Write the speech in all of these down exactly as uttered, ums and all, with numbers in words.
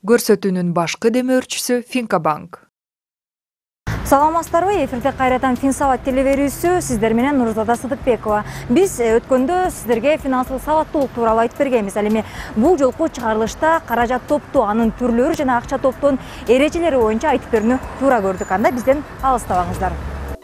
Көрсөтүүнүн башкы демөөрчүсү Финкабанк. Саламатсыздарбы? Эфирде кайрадан Финсабат телеберүүсү, сиздер менен Нурзада Сыдыкбекова. Биз өткөндө сиздерге финансылык сабаттуулук тууралуу айтып бергенбиз. Ал эми бул жолку чыгарылышта каражат топтоо, анын түрлөрү жана акча топтоонун эрежелери боюнча айтып берүүнү туура көрдүк. Анда бизден алыстабаңыздар.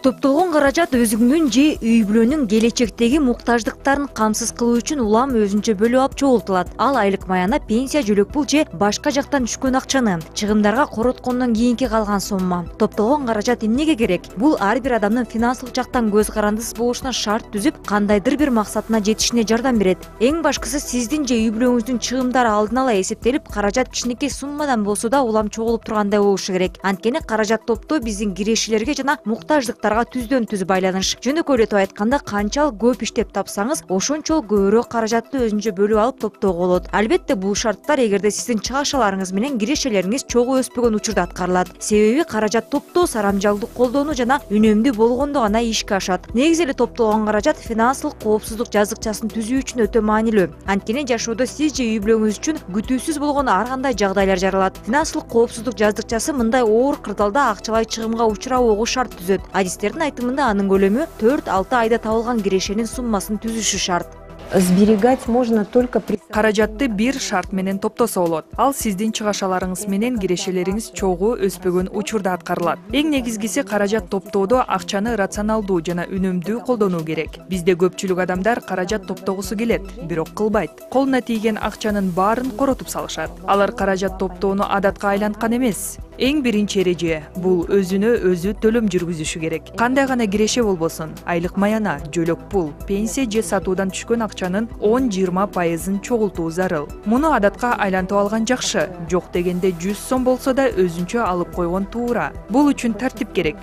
Топтолгон каражат өзүңдүн же үй бүлөнүн келечектеги муктаждыктарын камсыз кылуу үчүн улам өзүнчө бөлүп алып чогултулат. Ал айлык маяна, пенсия, жөлөк пул же башка жактан түшкөн акчаны, чыгымдарга короткондон кийинки калган сомма. Топтолгон каражат эмнеге керек? Бул ар бир адамдын финансылык жактан көз карандысыз болушуна шарт түзүп, кандайдыр бир максатына жетишине жардам берет. Эң башкысы, сиздин же үй бүлөңүздүн чыгымдары алдын ала эсептелип, каражат кичинекей суммадан болсо да улам чогулуп тургандай болушу керек. Анткени каражат топтоо биздин кирешилерге жана муктаждыктарга түздөн түз байланыш. Жөнөкөйлөтүп айтканда, канчалык көп иштеп тапсаңыз, ошончо көбүрөөк каражатты өзүнчө бөлүп алып топтоого болот. Албетте, бул шарттар эгерде сиздин чыгашаларыңыз менен кирешелериңиз чогуу өспөгөн учурда аткарылат. Себеби каражат топтоо сарамжалдуу колдонуу жана үнөмдүү болгондо гана ишке ашат. Негизи эле топтолгон каражат финансылык коопсуздук жазыкчасын түзүү үчүн өтө маанилүү. Анткени жашоодо сиз же үй бүлөңүз үчүн күтүүсүз болгон ар кандай жагдайлар жаралат. Финансылык коопсуздук жазыкчасы мындай оор кырдаалда акчалай чыгымга учурабоого шарт түзөт. Адистердин айтымында анын көлөмү төрт алты айда табылган кирешенин суммасын түзүшү шарт. Сберегать можно только при... Каражатты бир шарт менен топтосо болот. Ал сиздин чыгашаларыңыз менен кирешелериңиз чогуу өспөгөн учурда аткарылат. Эң негизгиси, каражат топтоодо акчаны рационалдуу жана үнөмдүү колдонуу керек. Бизде көпчүлүк адамдар каражат топтогусу келет, бирок кылбайт. Колуна тийген акчанын баарын коротуп салышат. Алар каражат топтоону адатка айланткан эмес. Эң биринчи эреже — бул өзүнө өзү төлөм жүргүзүшү керек. Кандай гана киреше болбосун, айлык маяна, жөлөк пул, пенсия же сатуудан түшкөн акчанын он жыйырма пайызын чогултуу зарыл. Муну адатка айлантып алган жакшы, жок дегенде жүз сом болсо да өзүнчө алып койгон туура. Бул үчүн тартип керек.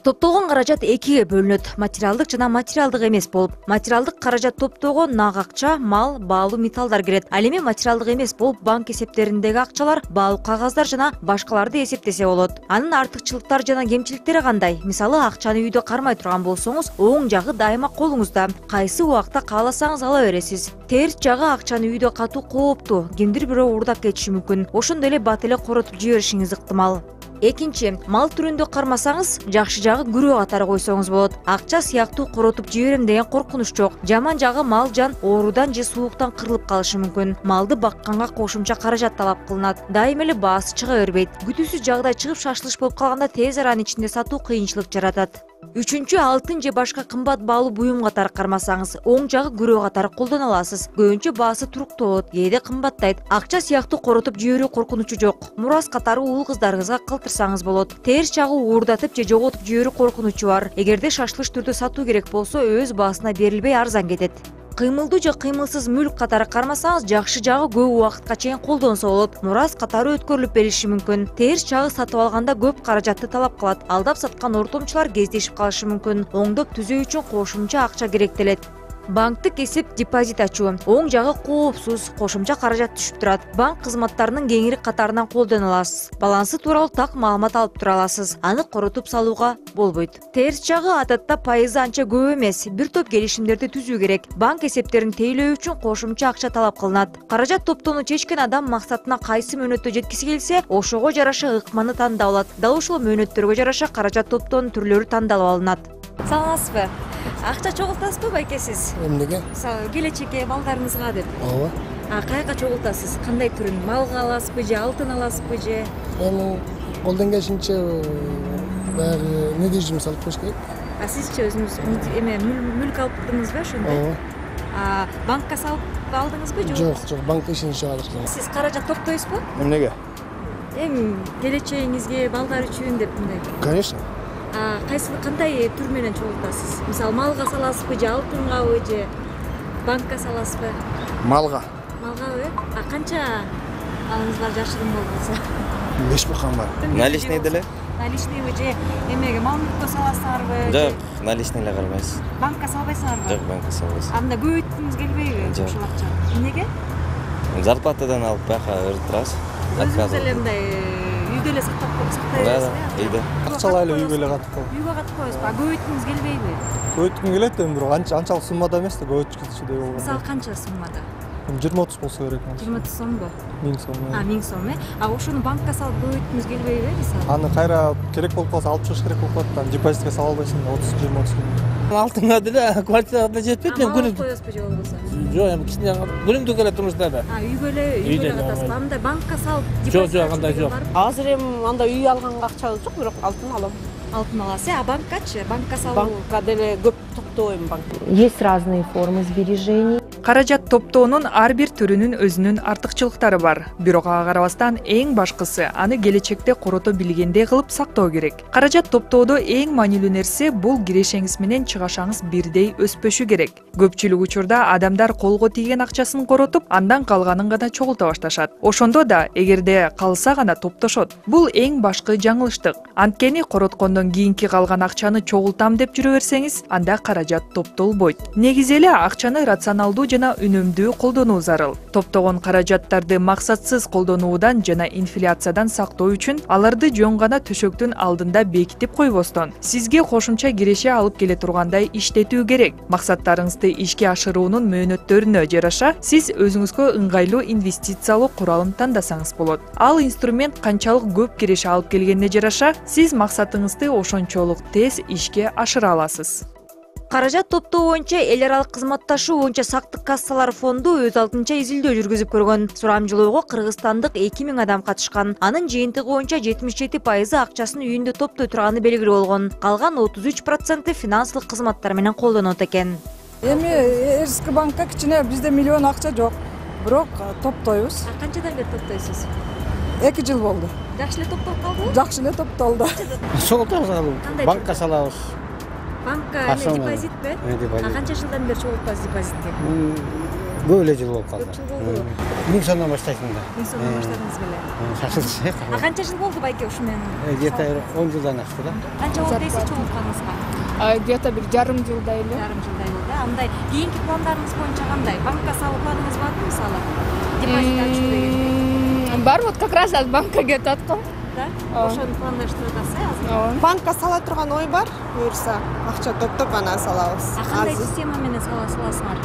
Топтолгон каражат экиге бөлүнөт: материалдык жана материалдык эмес болуп. Материалдык каражат топтоого нак акча, мал, баалуу металлдар кирет. Ал эми материалдык эмес болуп, банк эсептериндеги акчалар, баалуу кагаздар жана башкаларды эсептесе болот. Анын артыкчылыктары жана кемчиликтери кандай? Мисалы, акчаны үйдө кармай турган болсоңуз, оң жагы дайыма колуңузда. Кайсы убакта кааласаңыз ала бересиз. Терс жагы акчаны үйдө катуу кооптуу, кимдир бирөө уурдап кетиши мүмкүн. Ошондой эле бат эле коротуп жиберишиңиз ыктымал. Экинчи, мал түрүндө кармасаңыз, жакшы жагы күрөө катары койсоңуз болот. Акча сыяктуу коротуп жиберем деген коркунуч жок. Жаман жагы мал жан оорудан же сууктан кырылып калышы мүмкүн. Малды бакканга кошумча каражат талап кылынат. Дайыма эле баасы чыга бербейт. Күтүүсүз жагдай чыгып шашылыш болуп калганда тез аранын ичинде сатуу кыйынчылык жаратат. Үчүнчү, алтын же башка кымбат баалуу буюм катары кармасаңыз, оң жагы күрөө катары колдоно аласыз. Көбүнчө баасы туруктолот, кээде кымбаттайт. Акча сыяктуу коротуп жиберүү коркунучу жок. Мурас катары уул кыздарыңызга калтырсаңыз болот. Терс жагы уурдатып же жоготуп жиберүү коркунучу бар. Эгерде шашылыш түрдө сатуу керек болсо, өз баасына берилбей арзан кетет. Кыймылдуу же кыймылсыз мүлк катары кармасаңыз, жакшы жагы көп убакытка чейин колдонсо болот. Мурас катары өткөрүлүп берилиши мүмкүн. Терс жагы сатып алганда көп каражатты талап кылат. Алдап саткан ортомчулар кездешип калышы мүмкүн. Оңдоп түзөө үчүн кошумча акча керектелет. Банктык эсеп депозит ачуу. Оң жагы коопсуз, кошумча каражат түшүп турат. Банк кызматтарынын кеңири катарынан колдоно аласыз. Балансы тууралуу так маалымат алып тура аласыз. Аны коротуп салууга болбойт. Терс жагы адатта пайызы анча көп эмес. Бир топ келишимдерди түзүү керек. Банк эсептерин тейлөө үчүн кошумча акча талап кылынат. Каражат топтоону чечкен адам максатына кайсы мөөнөттө жеткиси келсе, ошого жараша ыкманы тандап алат. Дал ушул мөөнөттөргө жараша каражат топтоонун түрлөрү тандалып алынат. Саламатсызбы? Акча чогултасызбы байке сиз? Эмнеге? Мисалы, келечекке балдарыңызга деп. Ооба. А каяка чогултасыз? Кандай түрүн? Малга аласызбы же алтын аласызбы же? Эми колдон келишинче баягы недвижимость салып коюш керек. А сизчи өзүңүз эме мүлк алыптыңызбы ошондой? Ооба. А банкка салып алдыңызбы же? Жок, жок, банк ишин жок. Сиз каражат топтойсузбу? Эмнеге? Эми келечегиңизге, балдар үчүн деп мындай. Конечно. А кайсы кандай түр менен чогултасыз? Мисалы, малга саласызбы же алтынгабы же банкка саласызбы? Малга. Малгабы? А канча алыңыз бар жашыгын болбосо? беш бакам бар. Наличный деле? Наличныйбы же эмеге мал мүлккө саласыңарбы? Жок, наличный эле кармайсыз. Банкка салбайсыңарбы? Жок, банкка салбайсыз. Анда көбөйткүңүз келбейби ошол акчаны? Эмнеге? Зарплатадан алып бияка өрүп турасыз. Өзүңүз эле мындай үйдө эле сактап Да, үйдө. Акчалай эле үйгө эле катып коюп. Үйгө катып коесузбу? А көбөйткүңүз келбейби? Көбөйткүм келет эми, бирок анчалык суммада эмес да, көбөйткүчүдөй болгон. Мисалы, канча суммада? жыйырма отуз болсо керек. жыйырма отуз сомбу? миң сом. А, миң сом, э? А ошону банкка салып көбөйткүңүз келбейби, мисалы? Аны кайра керек болуп калса алып чыгыш керек болуп калат. Аны депозитке сала албайсың, отуз жыйырма отуз миң. Алтынга деле квартирага да жетпейт, эми күнү. Коесузбу же болбосо? Жок, эми кичине күнүмдүк эле турмушта да. А, үйгө эле, үйгө эле катасызбы? Андай банкка салып Жок, жок, андай жок. Азыр эми андай үй алганга акчабыз жок, бирок алтын алам. Алтын аласыз, а банккачы? Банкка салуу? Банкка деле көп токтойм банк. Есть разные формы сбережений. Каражат топтоонун ар бир түрүнүн өзүнүн артыкчылыктары бар. Бирок ага карабастан эң башкысы аны келечекте корото билгендей кылып сактоо керек. Каражат топтоодо эң маанилүү нерсе бул кирешеңиз менен чыгашаңыз бирдей өспөшү керек. Көпчүлүк учурда адамдар колго тийген акчасын коротуп, андан калганын гана чогулта башташат. Ошондо да эгерде калса гана топтошот. Бул эң башкы жаңылыштык. Анткени короткондон кийинки калган акчаны чогултам деп жүрө берсеңиз, анда каражат топтолбойт. Негизи эле акчаны рационалдуу жана үнөмдүү колдонуу зарыл. Топтогон каражаттарды максатсыз колдонуудан жана инфляциядан сактоо үчүн аларды жөн гана төшөктүн алдында бекитип койбостон, сизге кошумча киреше алып келе тургандай иштетүү керек. Максаттарыңызды ишке ашыруунун мөөнөттөрүнө жараша сиз өзүңүзгө ыңгайлуу инвестициялоо куралын тандасаңыз болот. Ал инструмент канчалык көп киреше алып келгенине жараша сиз максатыңызды ошончолук тез ишке ашыра аласыз. Каражат топтоо боюнча эл аралык кызматташуу боюнча сактык кассалар фонду өз алдынча изилдөө жүргүзүп көргөн. Сурамжылоого кыргызстандык эки миң адам катышкан. Анын жыйынтыгы боюнча жетимиш жети пайызы акчасын үйүндө топтой турганы белгилүү болгон. Калган отуз үч проценти финансылык кызматтар менен колдонот экен. Эми Эрский банкка кичине бизде миллион акча жок, бирок топтойбуз. А канчадан бери топтойсуз? эки жыл болду. Жакшы эле топтолуп калдыбы? Жакшы эле топтолду. Чогултабыз аны. Банкка салабыз. Банкка эме депозитпи? А канча жылдан бери чогултпайсыз депозитке? Көп эле жыл болуп калды. Көп жыл болду. миң сомдон баштайсың да. миң сомдон баштадыңыз беле? Шашылчы. А канча жыл болду байке ушу менен? Где-то он жылдан ашты да. Канча болду дейсиз чогултканыңызга? Где-то бир жарым жылдай эле. Жарым жылдай болду. Андай кийинки пландарыңыз боюнча кандай? Банкка салуу планыңыз барбы мисалы? Депозит ачуу дегендей. Бар, вот как раз аз банкка кетип аткам. Да? Ошону пландаштырып атасыз азыр? Банкка сала турган ой бар, буюрса акча топтоп анан салабыз. А кандай система менен саласыңар?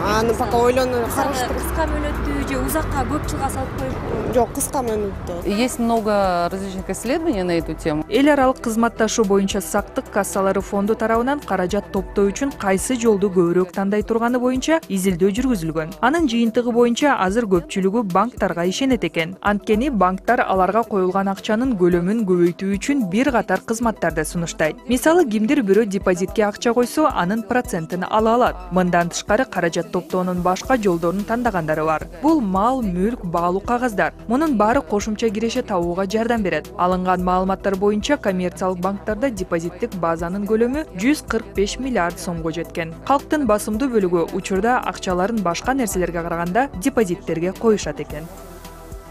Аны пока ойлонуп караштырып. Кыска мөөнөттүү же узакка көп жылга салып коюп? Жок, кыска мөөнөттүү. Есть много различных исследований на эту тему. Эл аралык кызматташуу боюнча сактык кассалары фонду тарабынан каражат топтоо үчүн кайсы жолду көбүрөөк тандай турганы боюнча изилдөө жүргүзүлгөн. Анын жыйынтыгы боюнча азыр көпчүлүгү банктарга ишенет экен. Анткени банктар аларга коюлган акчанын көлөмүн көбөйтүү үчүн бир катар кызматтарды сунуштайт. Мисалы, кимдир бирөө депозитке акча койсо, анын процентин ала алат. Мындан тышкары каражат топтоонун башка жолдорун тандагандары бар. Бул мал, мүлк, баалуу кагаздар. Мунун баары кошумча киреше табууга жардам берет. Алынган маалыматтар боюнча коммерциялык банктарда депозиттик базанын көлөмү жүз кырк беш миллиард сомго жеткен. Калктын басымдуу бөлүгү учурда акчаларын башка нерселерге караганда депозиттерге коюшат экен.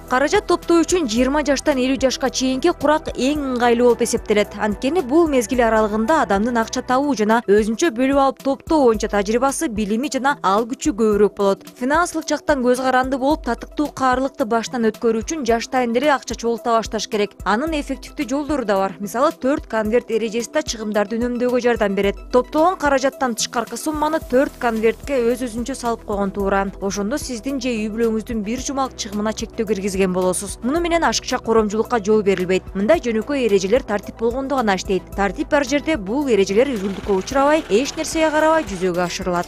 Каражат топтоо үчүн жыйырма жаштан элүү жашка чейинки курак эң ыңгайлуу болуп эсептелет. Анткени бул мезгил аралыгында адамдын акча табуу жана өзүнчө бөлүп алып топтоо боюнча тажрыйбасы, билими жана ал күчү көбүрөөк болот. Финансылык жактан көз каранды болуп, татыктуу каарлыкты баштан өткөрүү үчүн жаштайын деле акча чогулта башташ керек. Анын эффективдүү жолдору да бар. Мисалы, төрт конверт эрежеси да чыгымдарды үнөмдөөгө жардам берет. Топтогон каражаттан тышкаркы сумманы төрт конвертке өз-өзүнчө салып койгон туура. Ошондо сиздин же үй бүлөңүздүн бир жумалык чыгымына чектөө киргизген болосуз. Муну менен ашыкча коромчулукка жол берилбейт. Мындай жөнөкөй эрежелер тартип болгондо гана иштейт. Тартип бар жерде бул эрежелер үзгүлтүккө учурабай, эч нерсеге карабай жүзөгө ашырылат.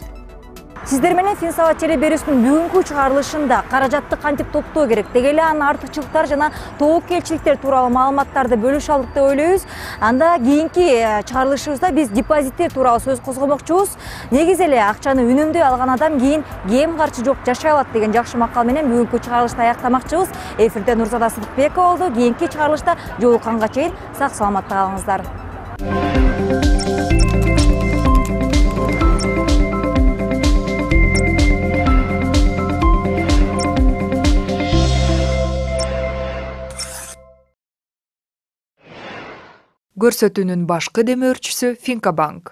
Сиздер менен Финсабат теле берүүсүнүн бүгүнкү чыгарылышында каражатты кантип топтоо керек, деги эле анын артыкчылыктары жана тобокелчиликтер тууралуу маалыматтарды бөлүшө алдык деп ойлойбуз. Анда кийинки чыгарылышыбызда биз депозиттер тууралуу сөз козгомокчубуз. Негизи эле акчаны үнөмдөй алган адам кийин кем карчы жок жашай алат деген жакшы макал менен бүгүнкү чыгарылышты аяктамакчыбыз. Эфирде Нурзада Сыдыкбекова болду. Кийинки чыгарылышта жолукканга чейин сак саламатта калыңыздар. Көрсөтүүнүн башкы демөөрчүсү Финкабанк.